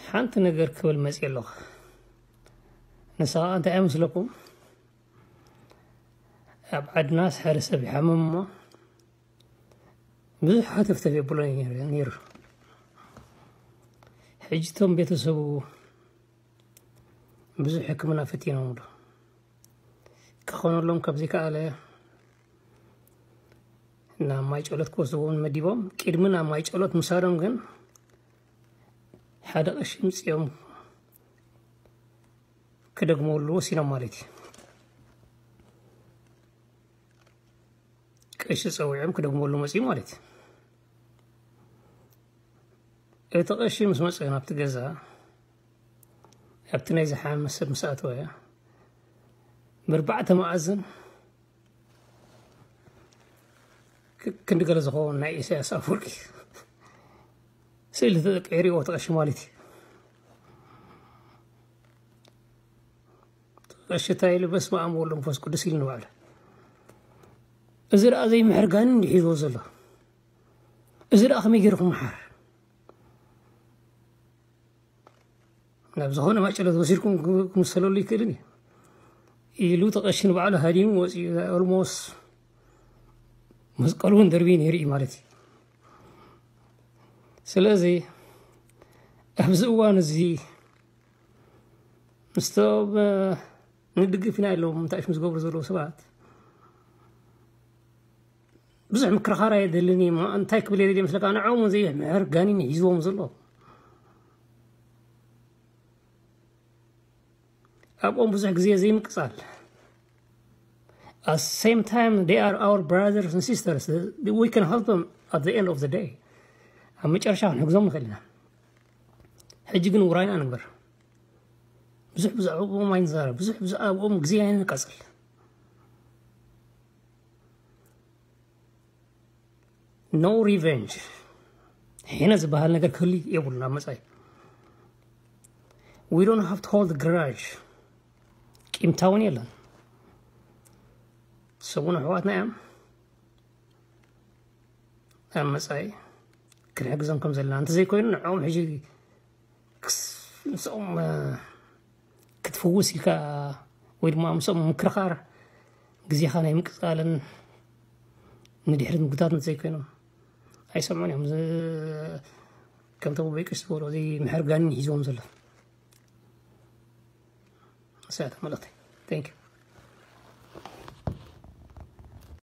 ሓንቲ ነገር ክብል መፅእ ኣለኹ። ንሳ እንታይ ኣይመስለኩም? ኣብ ዓድናስ ሓደ ሰብ ይሓምም እሞ ብዙሕ ሃተፍተፍ የብሎ ነይሩ። ሕጂ እቶም ቤተሰቡ ብዙሕ ሕክምና ፈቲኖምሉ ክኾነሎም ካብ ዘይከኣለ ናብ ማይ ጨሎት ክወስድዎም መዲቦም። ቅድሚ ናብ ማይ ጨሎት ምሳዶም ግን ሓደ ቀሺ ምፅኦም ክደግመሉ ወሲኖም ማለት እዩ። ቀሺ ፀዊዖም ክደግመሉ መፅኡ ማለት እዩ። እቲ ቀሺ ምስ መፅኡ ናብቲ ገዛ ኣብቲ ናይ ዝሓመ ሰብ ምስ ኣተወ ብርባዕተ መኣዝን ክንዲ ገለ ዝኸውን ናይ ኢሳያስ ኣፈወርቂ ስእሊ ተቀይርዎ ተቐሺ ማለት እዩ። ተቐሺ እንታይ ኢሉ በስመ ኣብ ወወልድ ወመንፈስ ቅዱስ ኢሉ ንባዕሉ። እዚ ደኣ ዘይምሕር ጋኒ እንዲሒዝዎ ዘሎ እዚ ደኣ ከመይ ገይሩ ክመሓር ናብ ዝኾነ ማጨለት ወሲድኩም ክምሰለሉ ይክእልን እዩ ኢሉ ተቐሽን ባዕሉ ሃዲሙ ወፂኡ። ኦልሞስ መስቀሉ እውን ደርቢ ነይሩ እዩ ማለት እዩ። ስለዚ ኣብዚ እዋን እዚ ምስቶም ንድግፍ ኢና ኢሎም እንታይ ምስ ዝገብሩ ዘለዉ ሰባት ብዙሕ ምክርኻር ኣየደልን እዩ። እንታይ ክብል የደልየ ምስለካ ንዕኦም እውን ዘይምሕር ጋኒን ሒዝዎም ዘሎ ኣብኦም ብዙሕ ግዜ ዘይምቅፃል። At same time they are our brothers and sisters, we can help them at the end of the day. ኣብ መጨረሻ ክንሕግዞም ንኽእል ኢና። ሕጂ ግን ውራይና ንግበር። ብዙሕ ብዛዕባኦም ኣይንዛረብ፣ ብዙሕ ብዛዕባኦም ግዜ ኣይንቃፅል። No revenge። ሕነ ዝበሃል ነገር ክህሉ የብሉን ኣብ መጻኢ። We don't have to hold grudge። ቂምታ እውን የለን። ሰሙን ኣሕዋትና እዮም። ኣብ መጻኢ ክንሕግዞም ከም ዘለና እንተዘይኮይኑ ንዕኦም ሕጂ ምስኦም ክትፍውስ ኢልካ ወይ ድማ ምስኦም ምክርኻር ግዜኻ ናይ ምቅፃልን ንድሕሪት ምግታት እንተዘይኮይኖም ኣይሰምዑን እዮም። ከምቶም በይቅሽ ዝበሎ እዚ ምሕርጋንን ሒዝዎም ዘሎ እሳያት መልእክቲ። Thank you።